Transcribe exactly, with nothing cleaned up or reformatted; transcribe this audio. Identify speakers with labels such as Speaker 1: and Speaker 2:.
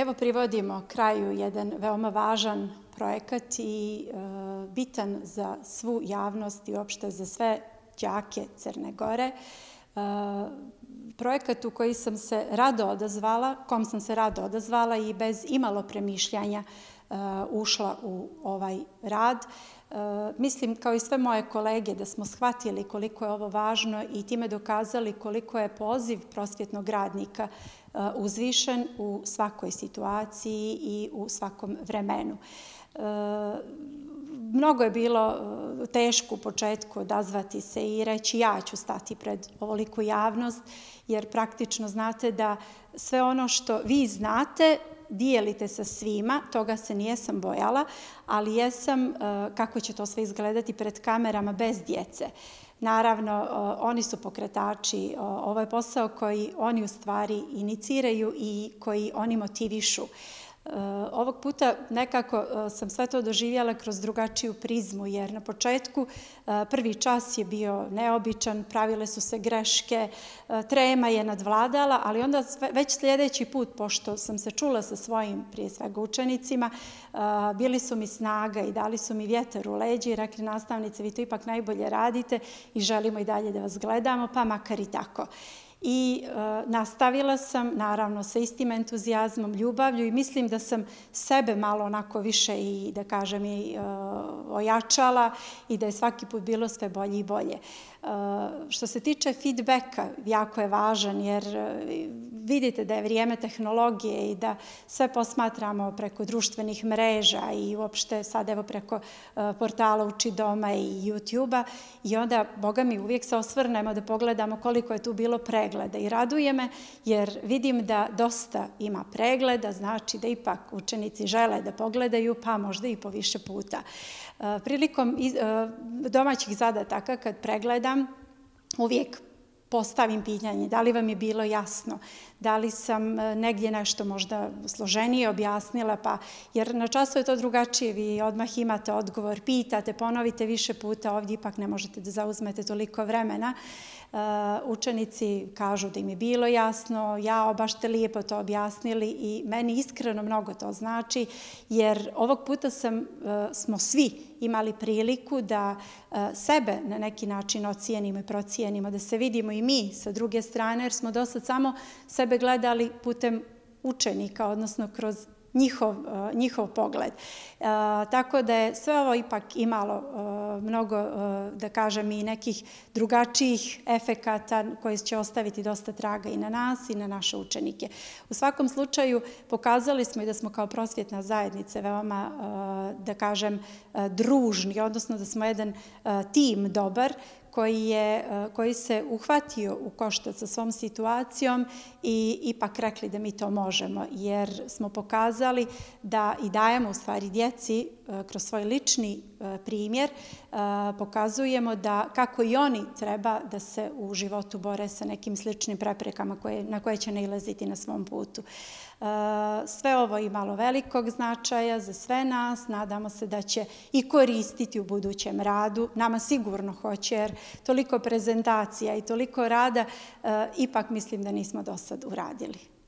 Speaker 1: Evo privodimo kraju jedan veoma važan projekat i e, bitan za svu javnost i uopšte za sve đake Crne Gore. E, projekat u koji sam se rado odazvala, kom sam se rado odazvala i bez imalo premišljanja e, ušla u ovaj rad. E, mislim, kao i sve moje kolege, da smo shvatili koliko je ovo važno i time dokazali koliko je poziv prosvjetnog radnika uzvišen u svakoj situaciji i u svakom vremenu. E, mnogo je bilo teško u početku odazvati se i reći ja ću stati pred ovoliku javnost, jer praktično znate da sve ono što vi znate dijelite sa svima, toga se nijesam bojala, ali jesam kako će to sve izgledati pred kamerama bez djece. Naravno, oni su pokretači, ovo je posao koji oni u stvari iniciraju i koji oni motivišu. Ovog puta nekako sam sve to doživjela kroz drugačiju prizmu, jer na početku prvi čas je bio neobičan, pravile su se greške, trema je nadvladala, ali onda već sljedeći put, pošto sam se čula sa svojim, prije svega učenicima, bili su mi snaga i dali su mi vjetar u leđi i rekli nastavnice, vi to ipak najbolje radite i želimo i dalje da vas gledamo, pa makar i tako. I e, nastavila sam, naravno, sa istim entuzijazmom, ljubavlju i mislim da sam sebe malo onako više i, da kažem, i e, ojačala i da je svaki put bilo sve bolje i bolje. E, što se tiče feedbacka, jako je važan jer vidite da je vrijeme tehnologije i da sve posmatramo preko društvenih mreža i uopšte sad evo preko e, portala Uči doma i YouTube-a i onda, boga mi, uvijek se osvrnemo da pogledamo koliko je tu bilo pregleda. I raduje me jer vidim da dosta ima pregleda, znači da ipak učenici žele da pogledaju, pa možda i po više puta. Prilikom domaćih zadataka kad pregledam, uvijek postavim pitanje da li vam je bilo jasno, da li sam negdje nešto možda složenije objasnila, pa jer na času je to drugačije, vi odmah imate odgovor, pitate, ponovite više puta, ovdje ipak ne možete da zauzmete toliko vremena. Učenici kažu da im je bilo jasno, jao, baš ste lijepo to objasnili i meni iskreno mnogo to znači, jer ovog puta sam, smo svi imali priliku da sebe na neki način ocijenimo i procijenimo, da se vidimo i mi sa druge strane, jer smo dosad samo sebe gledali putem učenika, odnosno kroz njihov, njihov pogled. E, tako da je sve ovo ipak imalo e, mnogo, e, da kažem, i nekih drugačijih efekata koji će ostaviti dosta traga i na nas i na naše učenike. U svakom slučaju pokazali smo i da smo kao prosvjetna zajednica veoma, e, da kažem, e, družni, odnosno da smo jedan e, tim dobar, koji, je, koji se uhvatio u koštac sa svom situacijom i ipak rekli da mi to možemo, jer smo pokazali da i dajemo u stvari djeci kroz svoj lični primjer, pokazujemo da kako i oni treba da se u životu bore sa nekim sličnim preprekama koje, na koje će nailaziti na svom putu. Sve ovo je imalo velikog značaja za sve nas, nadamo se da će i koristiti u budućem radu, nama sigurno hoće, jer toliko prezentacija i toliko rada ipak mislim da nismo do sad uradili.